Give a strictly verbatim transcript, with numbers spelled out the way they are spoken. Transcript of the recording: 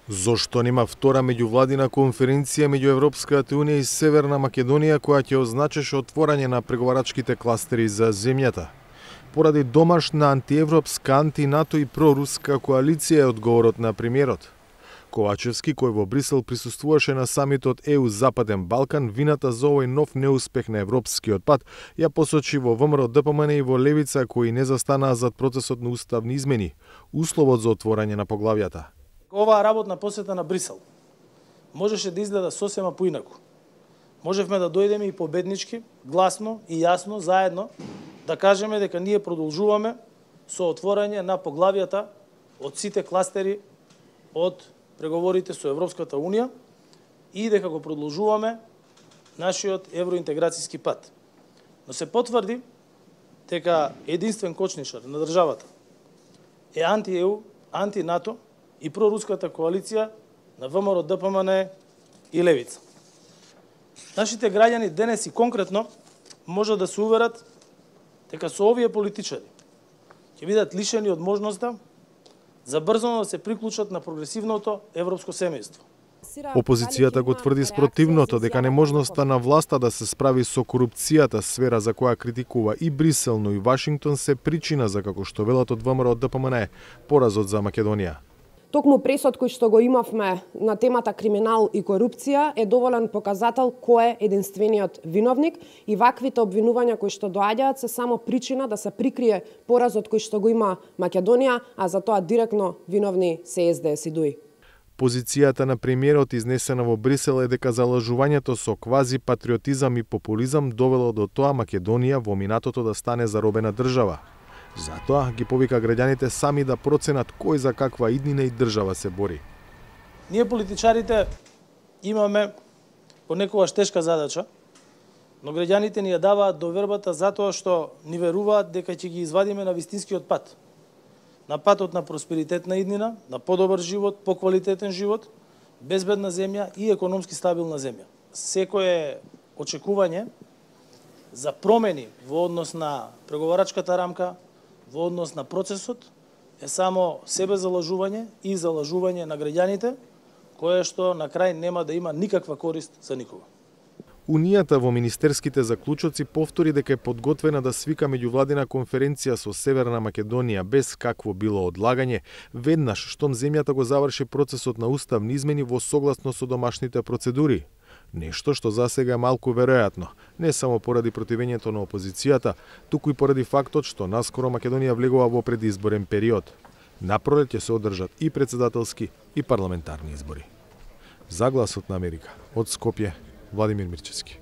Зошто нема втора меѓувладина конференција меѓу Европската унија и Северна Македонија која ќе означеше отворање на преговарачките кластери за земјата? Поради домашна антиевропска, антинато и проруска коалиција е одговорот на премиерот. Ковачевски, кој во Брисел присуствуваше на самитот Е У Западен Балкан, вината за овој нов неуспех на европскиот пат ја посочи во ВМРО Д П М Н и во Левица, кои не застанаа зад процесот на уставни измени, условот за отворање на поглавјата. Оваа работна посета на Брисел можеше да изгледа сосема поинаку. Можевме да дојдеме и победнички, гласно и јасно, заедно, да кажеме дека ние продолжуваме со отворање на поглавјата од сите кластери од преговорите со Европската Унија и дека го продолжуваме нашиот евроинтеграцијски пат. Но се потврди дека единствен кочнишар на државата е анти-Е У, анти-НАТО и проруската коалиција на ВМРО Д П М Н и Левица. Нашите граѓани денес и конкретно може да се уверат дека со овие политичари ќе бидат лишени од можноста за брзо да се приклучат на прогресивното европско семејство. Опозицијата го тврди спротивното, дека неможноста на власта да се справи со корупцијата, сфера за која критикува и Брисел, но и Вашингтон, се причина за, како што велат од ВМРО Д П М Н, поразот за Македонија. Токму пресод кој што го имавме на темата криминал и корупција е доволен показател кој е единствениот виновник и ваквите обвинувања кои што доаѓаат се само причина да се прикрие поразот кој што го има Македонија, а за тоа директно виновни се С Д С и Д У И. Позицијата на премиерот изнесена во Брисел е дека залажувањето со квази патриотизам и популизам довело до тоа Македонија во минатото да стане заробена држава. Затоа ги повика граѓаните сами да проценат кој за каква иднина и држава се бори. Ние политичарите имаме понекогаш тешка задача, но граѓаните ни ја даваат довербата затоа што ни веруваат дека ќе ги извадиме на вистинскиот пат. На патот на просперитетна иднина, на подобар живот, поквалитетен живот, безбедна земја и економски стабилна земја. Секое очекување за промени во однос на преговарачката рамка, во однос на процесот, е само себе залажување и залажување на граѓаните, кое што на крај нема да има никаква корист за никого. Унијата во министерските заклучоци повтори дека е подготвена да свика меѓувладина конференција со Северна Македонија без какво било одлагање, веднаш штом земјата го заврши процесот на уставни измени во согласно со домашните процедури. Нешто што засега е малку веројатно, не само поради противењето на опозицијата, туку и поради фактот што наскоро Македонија влегува во предизборен период. Напролет ќе се одржат и председателски и парламентарни избори. За Гласот на Америка, од Скопје, Владимир Мирчевски.